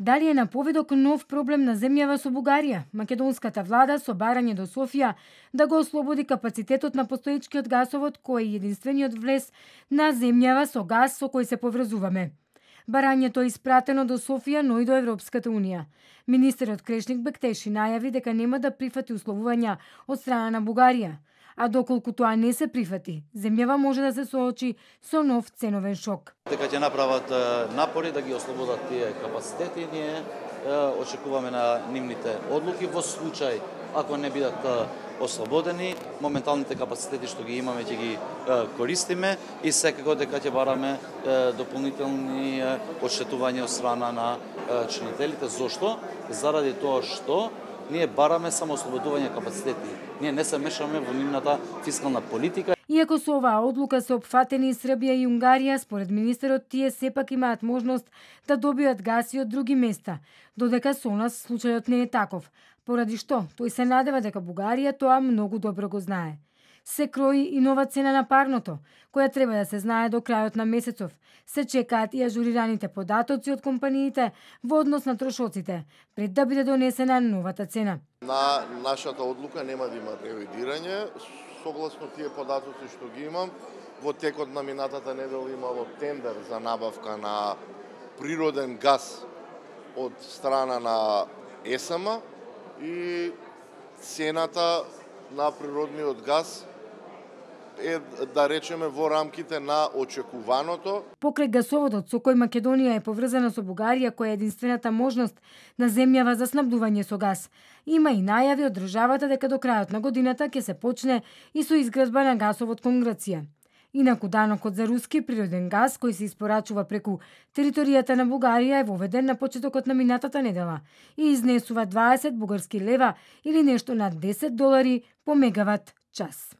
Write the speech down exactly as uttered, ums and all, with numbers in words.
Дали е на поведок нов проблем на земјава со Бугарија? Македонската влада со барање до Софија да го ослободи капацитетот на постоечкиот гасовод кој е единствениот влез на земјава со гас со кој се поврзуваме. Барањето е испратено до Софија, но и до Европската унија. Министерот Крешник Бектеши најави дека нема да прифати условувања од страна на Бугарија. А доколку тоа не се прифати, земјава може да се соочи со нов ценовен шок. Дека ќе направат напори да ги ослободат тие капацитети, ние очекуваме на нивните одлуки во случај ако не бидат ослободени, моменталните капацитети што ги имаме ќе ги користиме и секако дека ќе бараме дополнителни одштетувања од страна на чинителите. Зошто? Заради тоа што ние бараме само ослободување капацитети. Ние не се мешаме во нивната фискална политика. Иако со оваа одлука се опфатени Србија и Унгарија, според министерот тие сепак имаат можност да добијат газ и од други места, додека со нас случајот не е таков. Поради што тој се надева дека Бугарија тоа многу добро го знае. Се крои и нова цена на парното, која треба да се знае до крајот на месецов. Се чекаат и ажурираните податоци од компаниите во однос на трошоците, пред да биде донесена новата цена. На нашата одлука нема да има ревидирање, согласно тие податоци што ги имам. Во текот на минатата недела имало тендер за набавка на природен газ од страна на ЕСМ и цената на природниот газ е, да речеме, во рамките на очекуваното. Покрај гасоводот со кој Македонија е поврзана со Бугарија, која е единствената можност на земјава за снабдување со газ, има и најави од државата дека до крајот на годината ќе се почне и со изградба на гасовод кон Грција. Инаку данокот за руски природен газ кој се испорачува преку територијата на Бугарија е воведен на почетокот на минатата недела и изнесува дваесет бугарски лева или нешто над десет долари по мегават час.